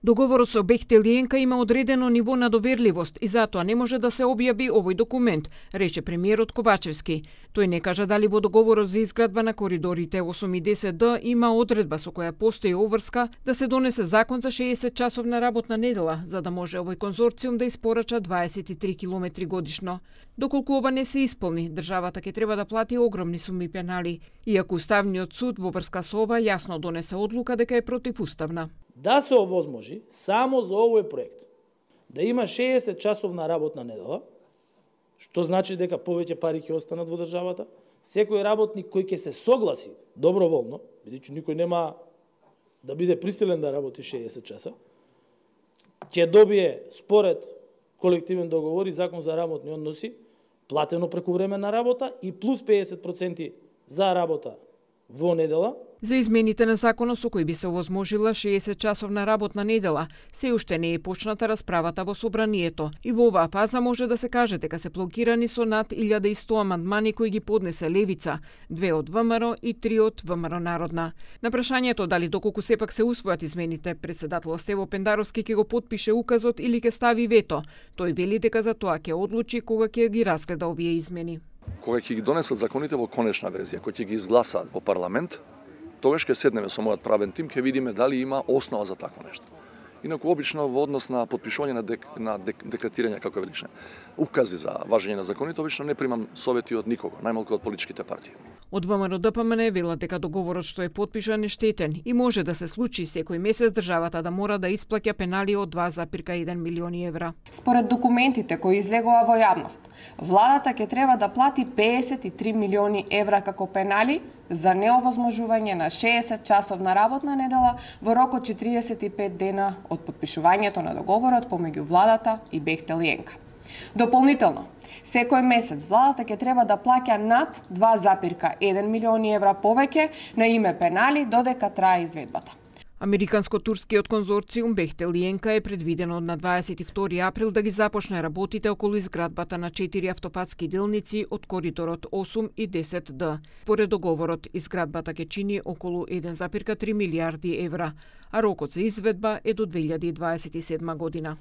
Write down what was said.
Договорот со Бехтел и ЕНКА има одредено ниво на доверливост и затоа не може да се објави овој документ, рече премиерот Ковачевски. Тој не кажа дали во договорот за изградба на коридорите 8 и 10Д има одредба со која постои обврска да се донесе закон за 60-часовна работна недела, за да може овој конзорциум да испорача 23 километри годишно. Доколку ова не се исполни, државата ќе треба да плати огромни суми пенали, иако Уставниот суд во врска со ова јасно донесе одлука дека е противуставна. Да се овозможи само за овој проект да има 60-часовна работна недела, што значи дека повеќе пари ќе останат во државата, секој работник кој ќе се согласи доброволно, бидејќи никој нема да биде присилен да работи 60 часа, ќе добие според колективен договор и закон за работни односи платено прекувременна работа и плюс 50% за работа во недела. За измените на законот со кој би се овозможила 60-часовна работна недела, се уште не е почната расправата во собранието и во оваа фаза може да се каже дека се блокирани со над 1100 амандмани кои ги поднесе Левица, 2 од ВМРО и 3 од ВМРО Народна. На прашањето дали доколку сепак се усвојат измените, председателот Стево Пендаровски ќе го потпише указот или ќе стави вето. Тој вели дека за тоа ќе одлучи кога ќе ги разгледа овие измени. Кога ќе ги донесат законите во конечна верзија, кои ќе ги изгласаат во парламент, тогаш ќе седнеме со мојот правен тим, ќе видиме дали има основа за такво нешто. Инаку обично во однос на потпишување на декретирање, како велиш, укази за важење на законите, обично не примам совети од никого, најмалку од политичките партии. Од ВМРО ДПМН велат дека договорот што е потпишан е штетен и може да се случи секој месец државата да мора да исплаќа пенали од 2,1 милиони евра. Според документите кои излегува во јавност, владата ќе треба да плати 53 милиони евра како пенали за неовозможување на 60-часовна работна недела во рок од 45 дена од потпишувањето на договорот помеѓу владата и Бехтел и ЕНКА. Дополнително, секој месец владата ќе треба да плаќа над 2,1 милиони евра повеќе на име пенали додека трае изведбата. Американско-турскиот конзорциум Бехтел и ЕНКА е предвидено на 22 април да ги започне работите околу изградбата на 4 автопатски делници од коридорот 8 и 10Д. Поред договорот, изградбата ќе чини околу 1,3 милијарди евра, а рокот за изведба е до 2027 година.